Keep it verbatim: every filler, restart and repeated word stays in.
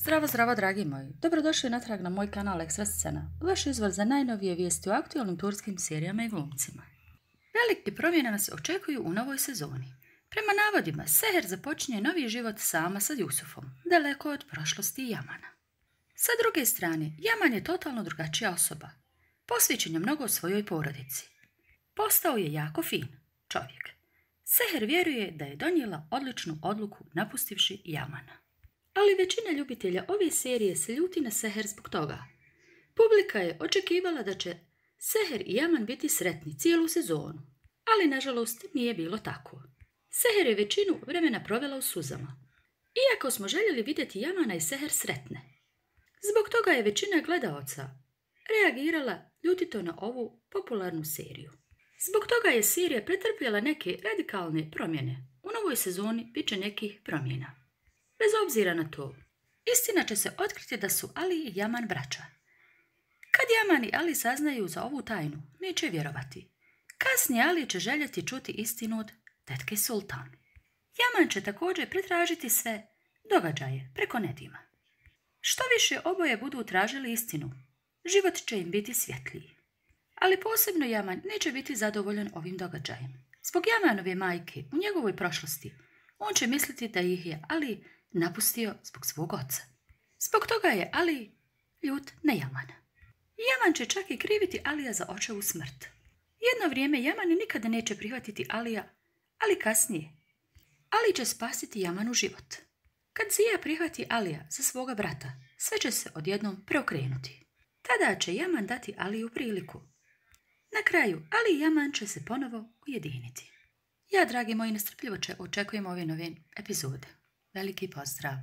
Zdravo, zdravo, dragi moji. Dobrodošli natrag na moj kanal Ekstra Scena, vaš izvor za najnovije vijesti o aktualnim turskim serijama i glumcima. Velike promjene nas očekuju u novoj sezoni. Prema navodima, Seher započinje novi život sama sa Jusufom, daleko od prošlosti Yamana. Sa druge strane, Yaman je totalno drugačija osoba. Posvećen je mnogo svojoj porodici. Postao je jako fin čovjek. Seher vjeruje da je donijela odličnu odluku napustivši Yamana. Ali većina ljubitelja ove serije se ljuti na Seher zbog toga. Publika je očekivala da će Seher i Yaman biti sretni cijelu sezonu, ali nažalost nije bilo tako. Seher je većinu vremena provela u suzama, iako smo željeli vidjeti Yamana i Seher sretne. Zbog toga je većina gledaoca reagirala ljutito na ovu popularnu seriju. Zbog toga je serija pretrpjela neke radikalne promjene. U novoj sezoni bit će nekih promjena. Bez obzira na to, istina će se otkriti da su Ali i Yaman braća. Kad Yaman i Ali saznaju za ovu tajnu, neće vjerovati. Kasnije Ali će željeti čuti istinu od tetke Sultan. Yaman će također pretražiti sve događaje preko Nedima. Što više oboje budu tražili istinu, život će im biti svjetliji. Ali posebno Yaman neće biti zadovoljan ovim događajem. Zbog Yamanove majke u njegovoj prošlosti, on će misliti da ih je Ali napustio zbog svog oca. Zbog toga je Ali ljut na Yamana. Yaman će čak i kriviti Alija za očevu smrt. Jedno vrijeme Yaman nikada neće prihvatiti Alija, ali kasnije Ali će spasiti Yamanu život. Kad Zija prihvati Alija za svoga brata, sve će se odjednom preokrenuti. Tada će Yaman dati Aliju priliku. Na kraju, Ali i Yaman će se ponovo ujediniti. Ja, dragi moji, nestrpljivo očekujem ove nove epizode. Veliki pozdrav!